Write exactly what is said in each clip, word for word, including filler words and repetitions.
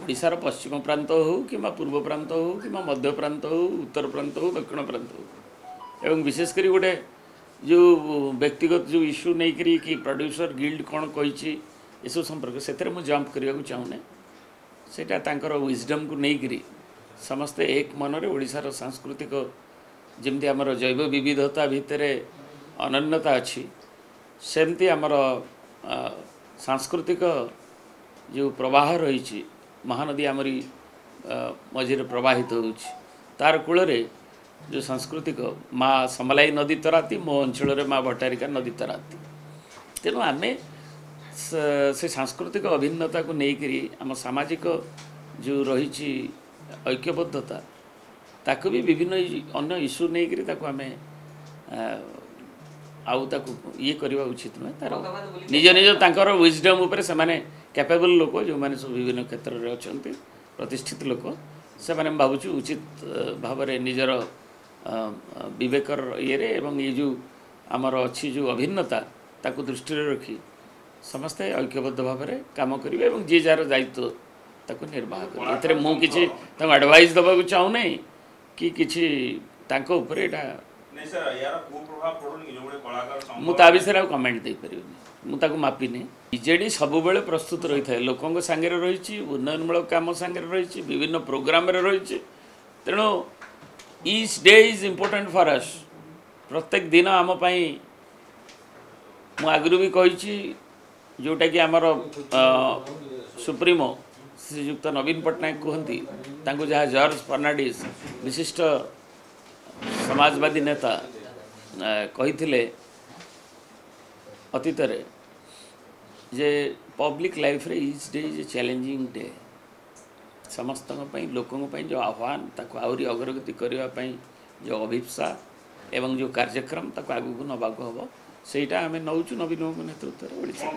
ଓଡ଼ିଶାର ପଶ୍ଚିମ ପ୍ରାନ୍ତ ହେଉ କିମ୍ବା ପୂର୍ବ ପ୍ରାନ୍ତ ହେଉ କିମ୍ବା ମଧ୍ୟ ପ୍ରାନ୍ତ ହେଉ, ଉତ୍ତର ପ୍ରାନ୍ତ ହେଉ, ଦକ୍ଷିଣ ପ୍ରାନ୍ତ ହେଉ, ଏବଂ ବିଶେଷ କରି ଗୋଟେ ଯେଉଁ ବ୍ୟକ୍ତିଗତ ଯେଉଁ ଇସ୍ୟୁ ନେଇକରି କି ପ୍ରଡ୍ୟୁସର ଗିଲ୍ଡ କ'ଣ କହିଛି ଏସବୁ ସମ୍ପର୍କ, ସେଥିରେ ମୁଁ ଜମ୍ପ କରିବାକୁ ଚାହୁଁନି। ସେଇଟା ତାଙ୍କର ୱିଜଡମ୍କୁ ନେଇକରି ସମସ୍ତେ ଏକ ମନରେ ଓଡ଼ିଶାର ସାଂସ୍କୃତିକ ଯେମିତି ଆମର ଜୈବ ବିବିଧତା ଭିତରେ ଅନନ୍ୟତା ଅଛି, ସେମିତି ଆମର ସାଂସ୍କୃତିକ ଯେଉଁ ପ୍ରବାହ ରହିଛି, ମହାନଦୀ ଆମରି ମଝିରେ ପ୍ରବାହିତ ହେଉଛି, ତାର କୂଳରେ ଯେଉଁ ସାଂସ୍କୃତିକ ମା ସମଲାଇ ନଦୀ ତରାତି, ମୋ ଅଞ୍ଚଳରେ ମା ଭଟ୍ଟାରିକା ନଦୀ ତରାତି। ତେଣୁ ଆମେ ସେ ସାଂସ୍କୃତିକ ଅଭିନ୍ନତାକୁ ନେଇକରି ଆମ ସାମାଜିକ ଯେଉଁ ରହିଛି ଐକ୍ୟବଦ୍ଧତା, ତାକୁ ବି ବିଭିନ୍ନ ଅନ୍ୟ ଇସ୍ୟୁ ନେଇକରି ତାକୁ ଆମେ ଆଉ ତାକୁ ଇଏ କରିବା ଉଚିତ ନୁହେଁ। ତାର ନିଜ ନିଜ ତାଙ୍କର ୱିଜଡମ୍ ଉପରେ ସେମାନେ କ୍ୟାପେବଲ୍ ଲୋକ, ଯେଉଁମାନେ ସବୁ ବିଭିନ୍ନ କ୍ଷେତ୍ରରେ ଅଛନ୍ତି, ପ୍ରତିଷ୍ଠିତ ଲୋକ, ସେମାନେ ମୁଁ ଭାବୁଛି ଉଚିତ ଭାବରେ ନିଜର ବିବେକର ଇଏରେ ଏବଂ ଏଇ ଯେଉଁ ଆମର ଅଛି ଯେଉଁ ଅଭିନ୍ନତା ତାକୁ ଦୃଷ୍ଟିରେ ରଖି ସମସ୍ତେ ଐକ୍ୟବଦ୍ଧ ଭାବରେ କାମ କରିବେ ଏବଂ ଯିଏ ଯାହାର ଦାୟିତ୍ୱ ତାକୁ ନିର୍ବାହ କରିବେ। ଏଥିରେ ମୁଁ କିଛି ତାଙ୍କୁ ଆଡ଼ଭାଇସ୍ ଦେବାକୁ ଚାହୁଁନାହିଁ କି କିଛି ତାଙ୍କ ଉପରେ ଏଇଟା ମୁଁ ତା ବିଷୟରେ ଆଉ କମେଣ୍ଟ ଦେଇପାରିବିନି, ମୁଁ ତାକୁ ମାପିନି। ବିଜେଡ଼ି ସବୁବେଳେ ପ୍ରସ୍ତୁତ ରହିଥାଏ, ଲୋକଙ୍କ ସାଙ୍ଗରେ ରହିଛି, ଉନ୍ନୟନମୂଳକ କାମ ସାଙ୍ଗରେ ରହିଛି, ବିଭିନ୍ନ ପ୍ରୋଗ୍ରାମରେ ରହିଛି। ତେଣୁ each day is important for us. ପ୍ରତ୍ୟେକ ଦିନ ଆମ ପାଇଁ, ମୁଁ ଆଗରୁ ବି କହିଛି, ଯେଉଁଟାକି ଆମର ସୁପ୍ରିମୋ ଶ୍ରୀଯୁକ୍ତ ନବୀନ ପଟ୍ଟନାୟକ କୁହନ୍ତି, ତାଙ୍କୁ ଯାହା ଜର୍ଜ ଫର୍ଣ୍ଣାଣ୍ଡିସ୍ ବିଶିଷ୍ଟ ସମାଜବାଦୀ ନେତା କହିଥିଲେ ଅତୀତରେ ଯେ ପବ୍ଲିକ୍ ଲାଇଫ୍ରେ each day is a challenging day. ସମସ୍ତଙ୍କ ପାଇଁ, ଲୋକଙ୍କ ପାଇଁ ଯେଉଁ ଆହ୍ୱାନ, ତାକୁ ଆହୁରି ଅଗ୍ରଗତି କରିବା ପାଇଁ ଯେଉଁ ଅଭିପ୍ସା ଏବଂ ଯେଉଁ କାର୍ଯ୍ୟକ୍ରମ ତାକୁ ଆଗକୁ ନେବାକୁ ହେବ, ସେଇଟା ଆମେ ନେଉଛୁ ନବୀନବାବୁଙ୍କ ନେତୃତ୍ୱରେ ଓଡ଼ିଶାରେ।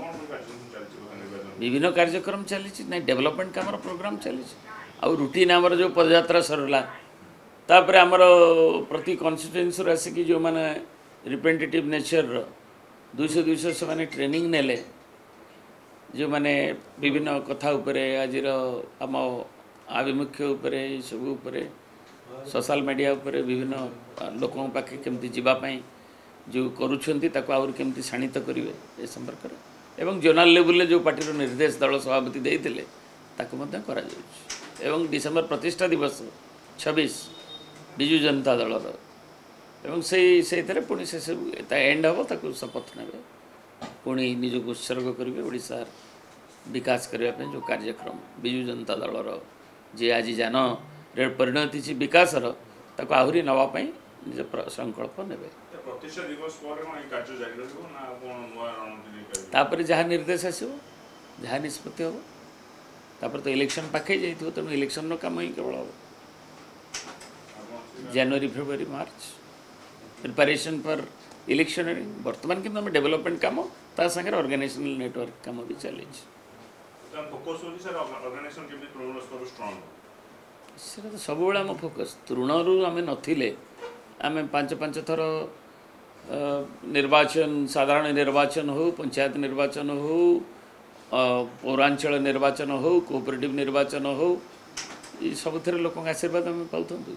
ବିଭିନ୍ନ କାର୍ଯ୍ୟକ୍ରମ ଚାଲିଛି, ନାଇଁ ଡେଭଲପମେଣ୍ଟ କାମର ପ୍ରୋଗ୍ରାମ ଚାଲିଛି। ଆଉ ରୁଟିନ୍ ଆମର ଯେଉଁ ପଦଯାତ୍ରା ସରିଲା, ତାପରେ ଆମର ପ୍ରତି କନଷ୍ଟିଟ୍ୟୁଏନ୍ସିରୁ ଆସିକି ଯେଉଁମାନେ ରିପ୍ରେଜେଣ୍ଟେଟିଭ୍ ନେଚର୍ର ଦୁଇଶହ ଦୁଇଶହ ସେମାନେ ଟ୍ରେନିଂ ନେଲେ, ଯେଉଁମାନେ ବିଭିନ୍ନ କଥା ଉପରେ ଆଜିର ଆମ ଆଭିମୁଖ୍ୟ ଉପରେ, ଏସବୁ ଉପରେ, ସୋଶାଲ ମିଡ଼ିଆ ଉପରେ ବିଭିନ୍ନ ଲୋକଙ୍କ ପାଖେ କେମିତି ଯିବା ପାଇଁ ଯେଉଁ କରୁଛନ୍ତି ତାକୁ ଆହୁରି କେମିତି ଶାଣିତ କରିବେ ଏ ସମ୍ପର୍କରେ, ଏବଂ ଜୋନାଲ ଲେବୁଲରେ ଯେଉଁ ପାର୍ଟିର ନିର୍ଦ୍ଦେଶ ଦଳ ସଭାପତି ଦେଇଥିଲେ ତାକୁ ମଧ୍ୟ କରାଯାଉଛି। ଏବଂ ଡିସେମ୍ବର ପ୍ରତିଷ୍ଠା ଦିବସ ଛବିଶ ବିଜୁ ଜନତା ଦଳର, ଏବଂ ସେଇ ସେଇଥିରେ ପୁଣି ସେସବୁ ତା ଏଣ୍ଡ ହେବ, ତାକୁ ଶପଥ ନେବେ, ପୁଣି ନିଜକୁ ଉତ୍ସର୍ଗ କରିବେ ଓଡ଼ିଶାର ବିକାଶ କରିବା ପାଇଁ ଯେଉଁ କାର୍ଯ୍ୟକ୍ରମ ବିଜୁ ଜନତା ଦଳର ଯିଏ ଆଜି ଯାନରେ ପରିଣତ ହେଇଛି ବିକାଶର, ତାକୁ ଆହୁରି ନେବା ପାଇଁ ନିଜ ସଂକଳ୍ପ ନେବେ। ତାପରେ ଯାହା ନିର୍ଦ୍ଦେଶ ଆସିବ, ଯାହା ନିଷ୍ପତ୍ତି ହେବ, ତାପରେ ତ ଇଲେକ୍ସନ୍ ପାଖେଇ ଯାଇଥିବ, ତେଣୁ ଇଲେକ୍ସନ୍ର କାମ ହିଁ କେବଳ ହେବ। ଜାନୁଆରୀ, ଫେବୃଆରୀ, ମାର୍ଚ୍ଚ ପ୍ରିପାରେସନ୍ ଫର୍ ଇଲେକ୍ସନାରୀ। ବର୍ତ୍ତମାନ କିନ୍ତୁ ଆମେ ଡେଭଲପମେଣ୍ଟ କାମ ତା ସାଙ୍ଗରେ ଅର୍ଗାନାଇଜେସନାଲ ନେଟୱାର୍କ କାମ ବି ଚାଲିଛି। ସେଟା ତ ସବୁବେଳେ ଆମ ଫୋକସ୍। ତୃଣରୁ ଆମେ ନଥିଲେ, ଆମେ ପାଞ୍ଚ ପାଞ୍ଚ ଥର ନିର୍ବାଚନ, ସାଧାରଣ ନିର୍ବାଚନ ହେଉ, ପଞ୍ଚାୟତ ନିର୍ବାଚନ ହେଉ, ପୌରାଞ୍ଚଳ ନିର୍ବାଚନ ହେଉ, କୋଅପରେଟିଭ୍ ନିର୍ବାଚନ ହେଉ, ଏ ସବୁଥିରେ ଲୋକଙ୍କ ଆଶୀର୍ବାଦ ଆମେ ପାଉଥାନ୍ତୁ।